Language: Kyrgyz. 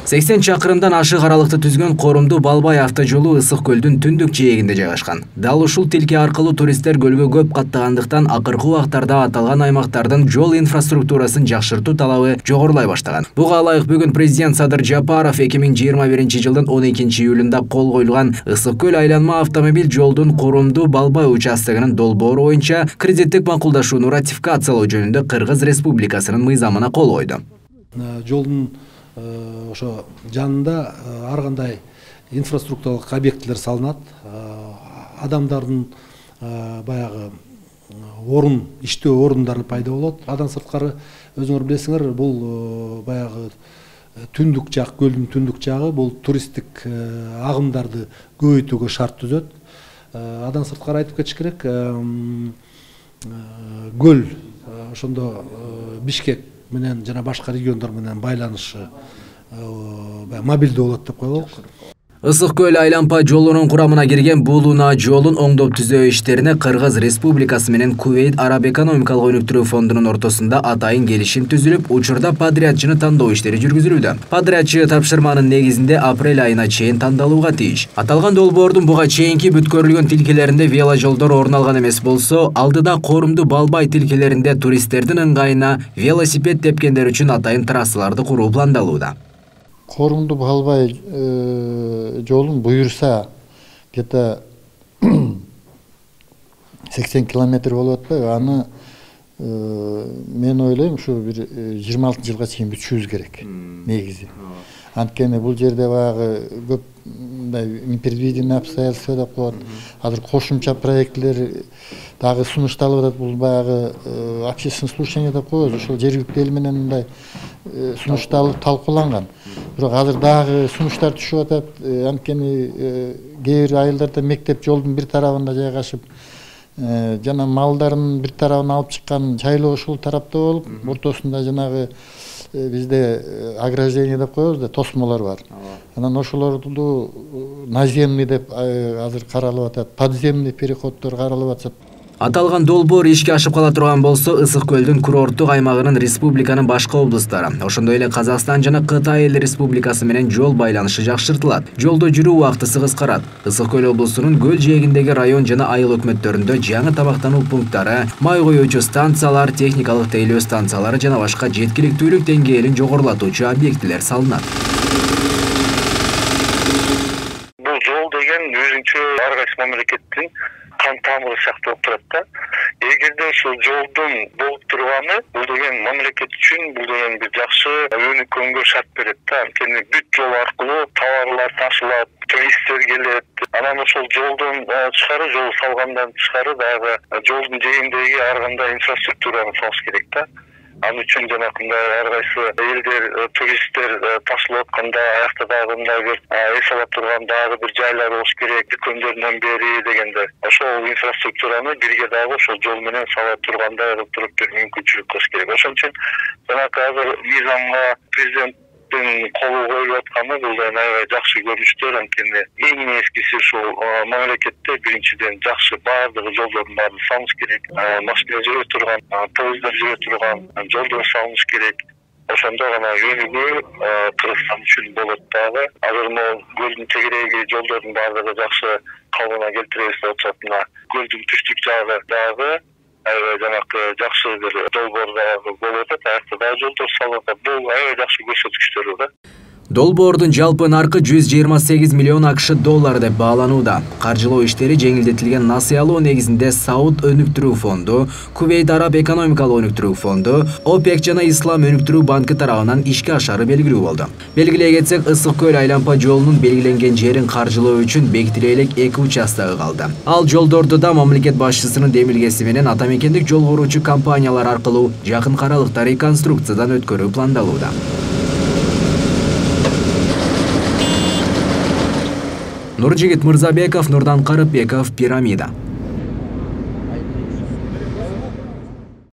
80 чакырымдан ашык аралыкты түзгөн Корумду Балбай автожолу Ысык көлдүн түндүк жээгинде жайгашкан. Дал ушул тилке аркылуу туристтер көлгө көп каттагандыктан акыркы убактарда аталган аймактардын жол инфраструктурасын жакшыртуу талабы жогорулай баштаган. Буга ылайык бүгүн президент Садыр Жапаров 2021 жылдын 12 июлунда кол коюлган Ысык көл айланма автомобиль жолдун Корумду Балбай участогунун долбоору боюнча кредиттик макулдашууну ратификациялоо жөнүндө Кыргыз Республикасынын мыйзамына кол койду. Жолдун ошо жанында ар кандай инфраструктуралык объектилер салынат. Адамдардын баягы иштөө орундары пайда болот. Андан сырткары өзүңөр билесиңер, бул баягы түндүк жак, көлдүн түндүк жагы бул туристтик агымдарды көбөйтүүгө шарт түзөт. Андан сырткары айтып кетиш керек, көл ошондо Бишкек менен жана башка региондор менен байланышы мобилдүү болот деп коелук. Ысык көл айланпа жолунун курамына кирген Булуна жолун оңдоп түзөө иштерине Кыргыз Республикасы менен Кувейт Араб экономикалык өнүктүрүү фондунун ортосунда атайын келишим түзүлүп, учурда подрядчыны тандоо иштери жүргүзүлүүдө. Подрядчы тапшырманын негизинде апрель айына чейин тандалууга тийиш. Аталган долбоордун буга чейинки бүткөрүлгөн тилкелеринде веложолдор орун алган эмес болсо, алдыда Корумду Балбай тилкелеринде туристтердин ыңгайына велосипед тепкендер үчүн атайын трассаларды куруу пландалууда. Корумду Балбай жолун буюрса где-то 80 километр болуп атпайбы? Аны мен ойлойм, ушу бир 26 жылга чейин бүтүшүбүз керек негизи. Анткени бул жерде баягы көп непредвиденный обстоятельства деп коет. Азыр кошумча проектлер дагы сунушталып атат. Бул баягы общественное слушание деп коебуз. Ошол жергиликтүү эл менен мындай сунушталып талкууланган. Бирок азыр дагы сунуштар түшүп атат. Анткени кээ бир айылдарда мектеп жолдун бир тарабында жайгашып, жана малдарын бир тарабына алып чыккан жайлоо ушул тарапта болуп, ортосунда жанагы бизде ограждение деп коебуз да, тосмолор бар. Анан ошолорду наземный деп азыр каралып атат, подземный переходдор каралып атат. Аталган долбоор ишке ашып кала турган болсо, Ысык көлдүн курорттук аймагынын республиканын башка облустары, ошондой эле Казакстан жана Кытай эл республикасы менен жол байланышы жакшыртылат. Жолдо жүрүү убактысы кыскарат. Ысык көл облусунун көл жээгиндеги район жана айыл өкмөттөрүндө жаңы тамактануу пункттары, май коюучу станциялар, техникалык тейлөө станциялары жана башка жеткиликтүүлүк деңгээлин жогорулатуучу объектилер салынат. Бул жол деген өзүнчө ар кайсы мамлекеттин кан тамыры сыяктуу болуп турат да. Эгерде ошол жолдун болуп турганы, бул деген мамлекет үчүн бул деген бир жакшы өнүккөнгө шарт берет да. Анткени бүт жол аркылуу товарлар ташылат, туристтер келет. Анан ошол жолдон тышкары, жол салгандан тышкары дагы жолдун жээгиндеги ар кандай инфраструктураны салыш керек да. Ал үчүн жанакындай ар кайсы элдер, туристтер ташылып атканда аякта дагы мындай бир эс ала турган дагы бир жайлар болуш керек, дүкөндөрдөн бери дегенде. Ошол инфраструктураны бирге дагы ошол жол менен сала тургандай кылып туруп бир мүмкүнчүлүк кылыш керек. Ошон үчүн жанакы азыр мыйзамга президенттин колу коюлуп атканы бул да аябай жакшы көрүнүштөр. Анткени эң эскиси ушул мамлекетте биринчиден жакшы баардыгы жолдордун баарын салыш керек. Машина жүрө турган, поезддар жүрө турган жолдор салыш керек. Ошондо гана өнүгүү Кыргызстан үчүн болот дагы. Азыр могу көлдүн тегереги жолдордун баардыгы жакшы калыбына келтиребиз деп атышат. Мына көлдүн түштүк жагы дагы аябай жанакы жакшы бир долбоор дагы болуп атат. Аякта дагы жолдор салынып атат. Бул аябай жакшы көрсөткүчтөр да. Долбоордун жалпы наркы 128 миллион АКШ доллары деп бааланууда. Каржылоо иштери жеңилдетилген насыялоо негизинде Сауд өнүктүрүү фонду, Кувейт Араб экономикалык өнүктүрүү фонду, ОПЕК жана Ислам өнүктүрүү банкы тарабынан ишке ашары белгилүү болду. Белгилей кетсек, Ысык көл айланпа жолунун белгиленген жерин каржылоо үчүн бекитиле элек 2 участогу калды. Ал жолдорду да мамлекет башчысынын демилгеси менен атамекендик жол куруучу компаниялар аркылуу жакын аралыкта реконструкциядан өткөрүү пландалууда. Нуржигит Мырзабеков, Нурдан Карыпбеков, Пирамида.